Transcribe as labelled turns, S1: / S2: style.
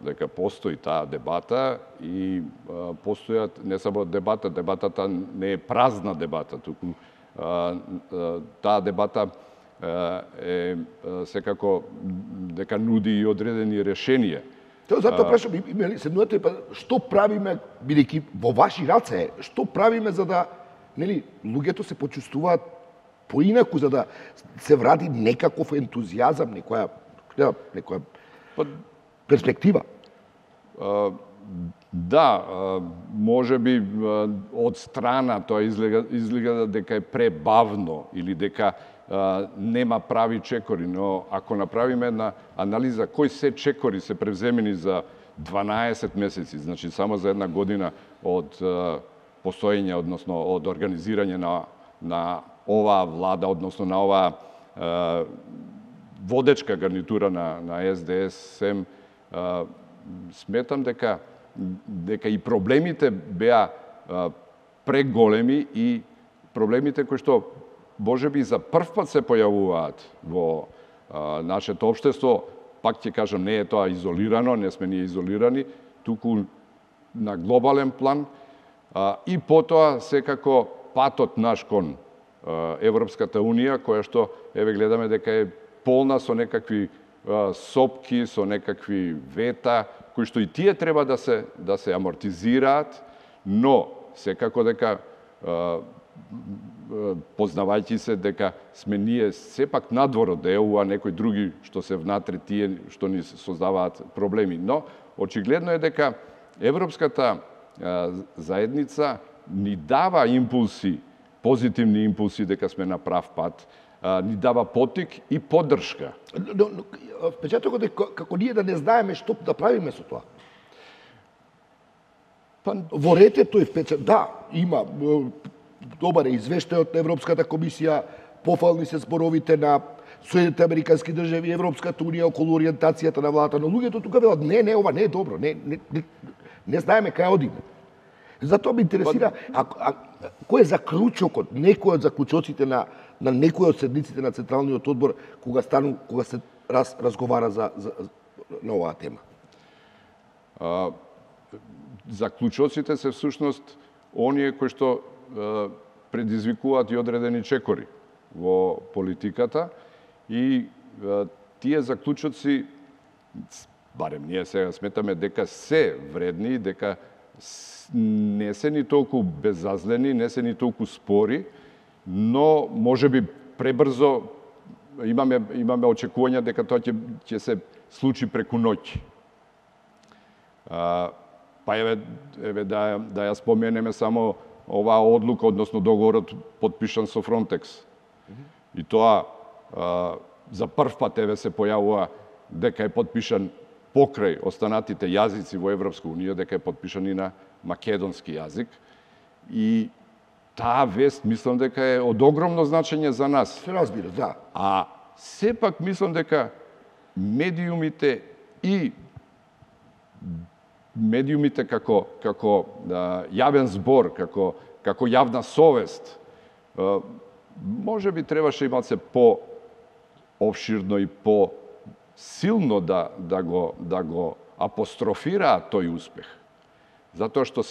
S1: дека постои таа дебата и постојат не само дебатата не е празна дебата, туку таа дебата е секако дека нуди и одредени решенија.
S2: Тоа затоа прашам, седнувате, што правиме, бидејќи во ваши раце, што правиме за да, нели, луѓето се почувствуваат поинаку, за да се вради некаков ентузијазам, некоја перспектива?
S1: Да, може би од страна тоа изгледа дека е пребавно или дека нема прави чекори, но ако направиме една анализа кои се чекори се превземени за 12 месеци, значи само за една година од постоење, односно од организирање на оваа влада, односно на оваа водечка гарнитура на СДС-СЕМ, сметам дека и проблемите беа преголеми и проблемите кои што можеби за прв пат се појавуваат во нашето општество, пак ќе кажам, не е тоа изолирано, не сме ние изолирани, туку на глобален план, и потоа секако патот наш кон Европската Унија, која што, еве, гледаме дека е полна со некакви сопки, со некакви вета, кои што и тие треба да се амортизираат, но секако дека познавајќи се дека сме ние сепак надвор од ЕУ, а некои други што се внатре тие што ни создаваат проблеми. Но очигледно е дека Европската заедница ни дава импулси, позитивни импулси дека сме на прав пат, ни дава поттик и поддршка.
S2: Впечатокот е како ние да не знаеме што да правиме со тоа. Во ретето е впечаток. Да, има добар е извештајот на Европската комисија, пофални се зборовите на Соединените Американски држави, Европската Унија околу ориентацијата на владата, но луѓето тука велат не, ова не е добро, не знаеме кај одиме. Затоа ме интересира кој е заклучокот, некој од заклучоците на некој од седниците на Централниот одбор кога се разговара на оваа тема.
S1: Заклучоците се всушност оние кои што предизвикуваат и одредени чекори во политиката и тие заклучоци, барем ние сега сметаме дека се вредни, дека не се ни толку безазлени, не се ни толку спори, но можеби пребрзо имаме очекувања дека тоа ќе се случи преку ноќ. Па еве да ја споменеме само оваа одлука, односно договорот потпишан со Фронтекс. И тоа за прв пат еве се појавува дека е потпишан покрај останатите јазици во Европска Унија, дека е потпишан и на македонски јазик. И таа вест мислам дека е од огромно значење за нас.
S2: Се разбира, да.
S1: А сепак мислам дека медиумите како јавен збор, како јавна совест, може би требаше малце по-обширно и по-силно да го апострофираат тој успех. Затоа што